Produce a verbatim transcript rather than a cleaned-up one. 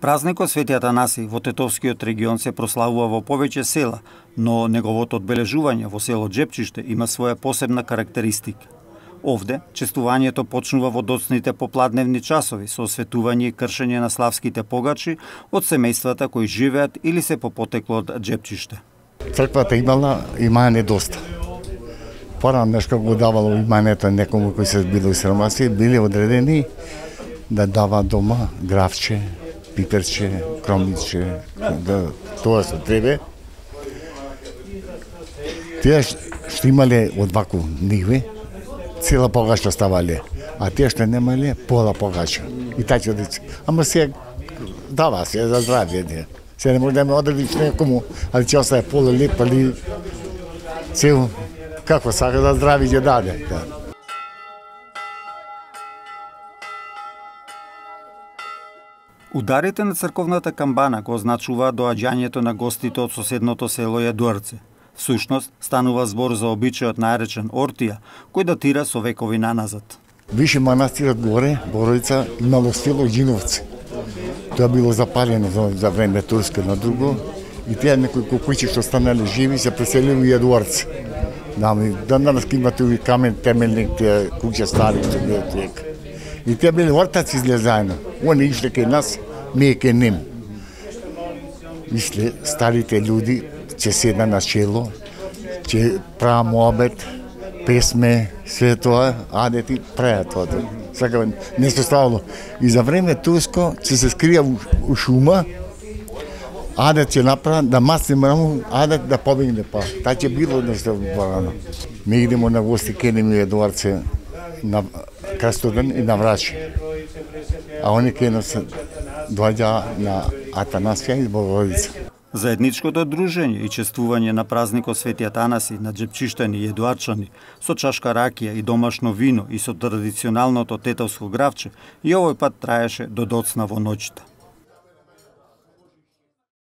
Празникот Свети Атанаси во Тетовскиот регион се прославува во повеќе села, но неговото одбележување во село Џепчиште има своја посебна карактеристика. Овде, честувањето почнува во доцните попладневни часови со осветување и кршење на славските погачи од семејствата кои живеат или се по потекло од Џепчиште. Црквата имала имање доста. Порано нешто го давало имањето некому кои се било сиромаси, биле одредени да дава дома гравче, пиперче, кромниче, да тоа се требе. Тие што имале од ваку ниве, цела погача ставале, а тие што немале, пола погача. И така дече. Ама се дава се за здравје. Се не може да ме одредиш некому, али ќе остае пола леп, али цел, како сака за здравје ќе даде. Ударите на црковната камбана го означуваат доаѓањето на гостите од соседното село Јадуарце. Всушност, станува збор за обичајот наречен Ортија, кој датира со векови наназад. Више манастирот горе, Боровица, имало село Ѓиновци. Тоа било запалено за, за време турско на друго и тие некои куќи што станале живи се преселили во Јадуарце. Да, данас имате и камен темелник, тие куќа стари што било туека. И тие биле ортаци изле заедно. Они ишле кај нас, ние кај ним. Ишле старите луѓи, ќе седна на чело, ќе правам обед, песме, све тоа, аде ти праја тоа. Сака, нешто ставало. И за време турско ќе се скрија у шума, аде ќе направа да масне мраму, аде да побегне па. Та ќе било нешто порано. Ми идемо на гости кај ним Јадуарце на Крстоден и на Враче. А они кај нас доаѓа на Атанасија и Богородица. Заедничкото дружење и чествување на празникот Свети Атанаси на џепчиштани и јадуарчани со чашка ракија и домашно вино и со традиционалното тетовско гравче и овој пат траеше до доцна во ноќта.